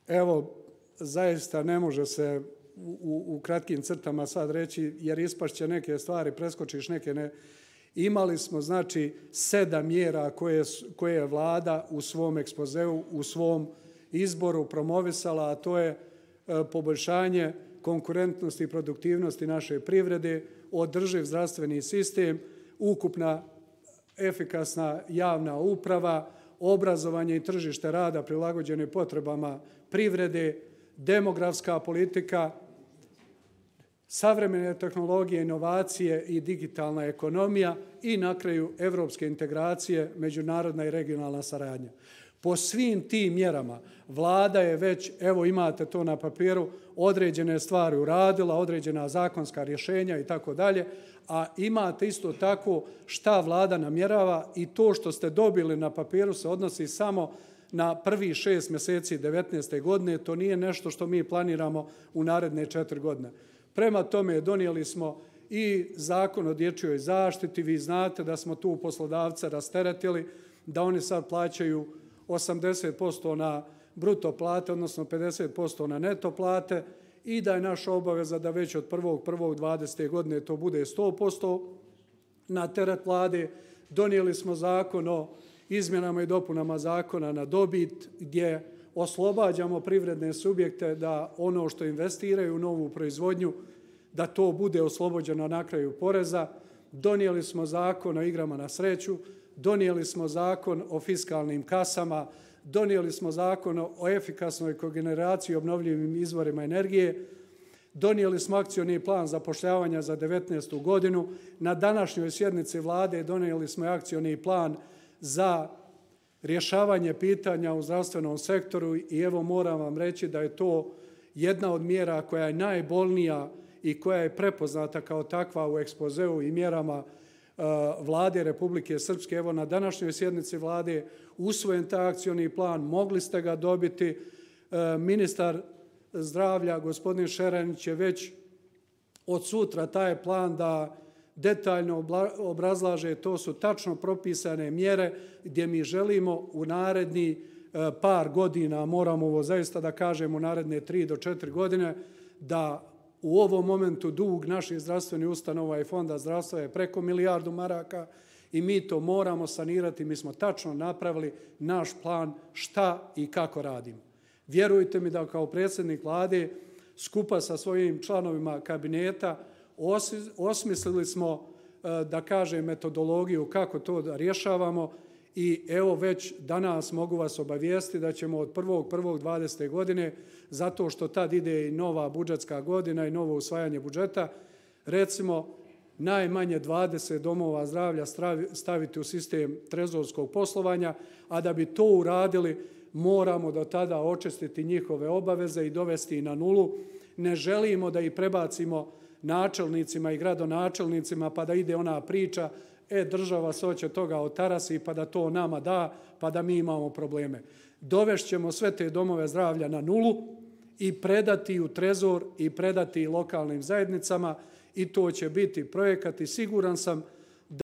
Evo, zaista ne može se u kratkim crtama sad reći, jer ispašće neke stvari, preskočiš neke ne. Imali smo, znači, 7 mjera koje je vlada u svom ekspozeu, u svom izboru promovisala, a to je poboljšanje konkurentnosti i produktivnosti naše privrede, održiv zdravstveni sistem, ukupna efikasna javna uprava, obrazovanje i tržište rada prilagođene potrebama privrede, demografska politika, savremene tehnologije, inovacije i digitalna ekonomija i na kraju evropske integracije, međunarodna i regionalna saradnja. Po svim tim mjerama vlada je već, evo imate to na papiru, određene stvari uradila, određena zakonska rješenja i tako dalje, a imate isto tako šta vlada namjerava i to što ste dobili na papiru se odnosi samo na prvih 6 mjeseci 2019. godine, to nije nešto što mi planiramo u naredne 4 godine. Prema tome donijeli smo i zakon o dječjoj zaštiti, vi znate da smo tu poslodavce rasteretili, da oni sad plaćaju 80% na bruto plate, odnosno 50% na neto plate i da je naša obaveza da već od 1.1.2020. godine to bude 100% na teret vlade. Donijeli smo zakon o izmjenama i dopunama zakona na dobit gdje oslobađamo privredne subjekte da ono što investiraju u novu proizvodnju, da to bude oslobođeno na kraju poreza. Donijeli smo zakon o igrama na sreću, donijeli smo zakon o fiskalnim kasama, donijeli smo zakon o efikasnoj kogeneraciji obnovljivim izvorima energije, donijeli smo akcioni plan zapošljavanja za 2019. godinu. Na današnjoj sjednici vlade donijeli smo akcioni plan za rješavanje pitanja u zdravstvenom sektoru i evo moram vam reći da je to jedna od mjera koja je najbolnija i koja je prepoznata kao takva u ekspozeu i mjerama vlade Republike Srpske. Evo na današnjoj sjednici vlade usvojen taj akcioni plan, mogli ste ga dobiti. Ministar zdravlja, gospodin Šeranić, je već od sutra taj plan da detaljno obrazlaže, to su tačno propisane mjere gdje mi želimo u naredni par godina, moramo ovo zaista da kažemo u naredne 3 do 4 godine, da u ovom momentu dug naših zdravstvenih ustanova i fonda zdravstva je preko 1 milijardu maraka i mi to moramo sanirati. Mi smo tačno napravili naš plan šta i kako radimo. Vjerujte mi da kao predsjednik vlade skupa sa svojim članovima kabineta osmislili smo, da kažem, metodologiju kako to da rješavamo i evo već danas mogu vas obavijestiti da ćemo od 1.1.2020. godine, zato što tad ide i nova budžetska godina i novo usvajanje budžeta, recimo najmanje 20 domova zdravlja staviti u sistem trezorskog poslovanja, a da bi to uradili moramo do tada očistiti njihove obaveze i dovesti na nulu. Ne želimo da ih prebacimo načelnicima i gradonačelnicima pa da ide ona priča država se hoće toga otarasi pa da to nama da, pa da mi imamo probleme. Dovešćemo sve te domove zdravlja na nulu i predati u trezor i predati lokalnim zajednicama i to će biti projekat i siguran sam